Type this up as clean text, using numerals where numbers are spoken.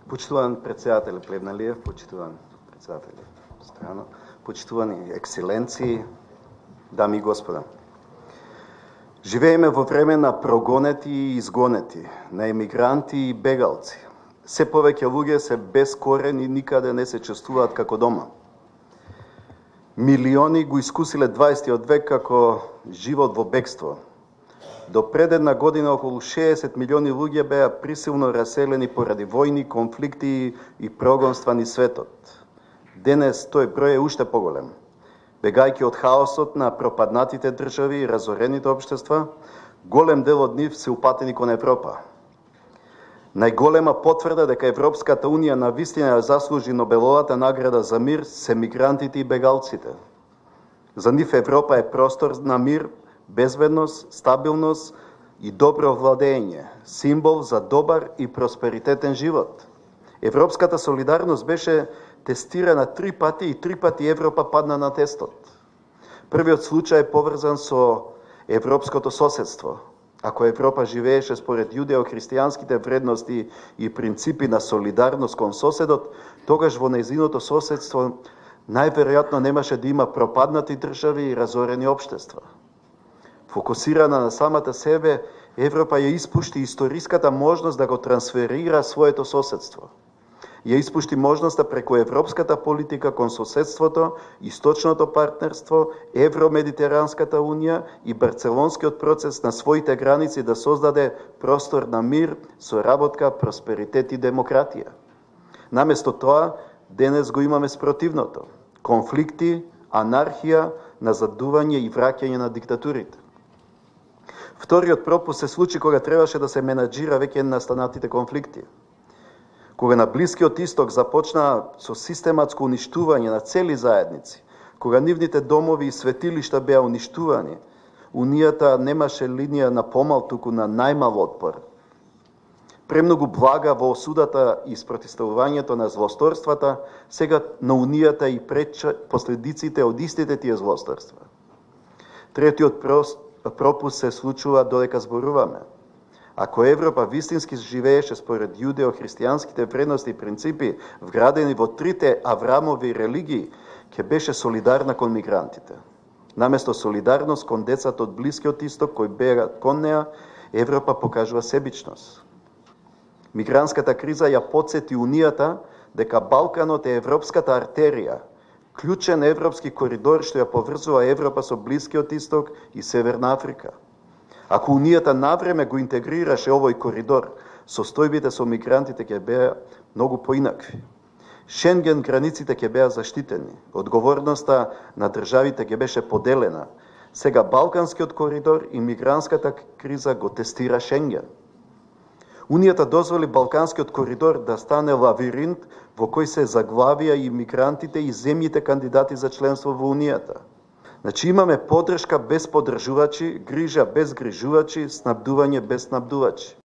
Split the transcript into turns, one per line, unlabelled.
Почитуван председател Плевналиев, почитуван председател Страно, почитувани екселенции, дами и господа. Живееме во време на прогонети и изгонети, на емигранти и бегалци. Се повеќе луѓе се без корен и никаде не се чувствуваат како дома. Милиони го искусиле 20 век како живот во бегство. До пред една година околу 60 милиони луѓе беа присилно раселени поради војни, конфликти и прогонства низ светот. Денес тој број е уште поголем. Бегајќи од хаосот на пропаднатите држави и разорените општества, голем дел од нив се упатени кон Европа. Најголема потврда дека Европската Унија навистина заслужи Нобеловата награда за мир се мигрантите и бегалците. За нив Европа е простор на мир, безбедност, стабилност и добро владење, символ за добар и просперитетен живот. Европската солидарност беше тестирана 3 пати и 3 пати Европа падна на тестот. Првиот случај е поврзан со европското соседство. Ако Европа живееше според јудео-христијанските вредности и принципи на солидарност кон соседот, тогаш во нејзиното соседство најверојатно немаше да има пропаднати држави и разорени општества. Фокусирана на самата себе, Европа ја испушти историската можност да го трансферира своето соседство. Ја испушти можноста преку европската политика кон соседството, источното партнерство, Евромедитеранската унија и Барцелонскиот процес на своите граници да создаде простор на мир, соработка, просперитет и демократија. Наместо тоа, денес го имаме спротивното. Конфликти, анархија, назадување и враќање на диктатурите. Вториот пропуст се случи кога требаше да се менаџира веќе настанатите конфликти. Кога на Блискиот Исток започна со систематско уништување на цели заедници, кога нивните домови и светилишта беа уништувани, Унијата немаше линија на помал, туку на најмал отпор. Премногу блага во осудата и спротивставувањето на злосторствата, сега на Унијата и последиците од истите тие злосторства. Третиот пропуст се случува додека зборуваме. Ако Европа вистински живееше според јудео-христијанските вредности и принципи, вградени во трите Аврамови религии, ќе беше солидарна кон мигрантите. Наместо солидарност кон децата од Блискиот Исток кои бегат кон неа, Европа покажува себичност. Мигрантската криза ја потсети Унијата дека Балканот е европската артерија, клучен европски коридор што ја поврзува Европа со Блискиот Исток и Северна Африка. Ако Унијата навреме го интегрираше овој коридор, состојбите со мигрантите ќе беа многу поинакви. Шенген границите ќе беа заштитени, одговорноста на државите ќе беше поделена. Сега Балканскиот коридор и мигрантската криза го тестира Шенген. Унијата дозволи Балканскиот коридор да стане лавиринт во кој се заглавија и мигрантите и земјите кандидати за членство во Унијата. Значи имаме поддршка без поддржувачи, грижа без грижувачи, снабдување без снабдувачи.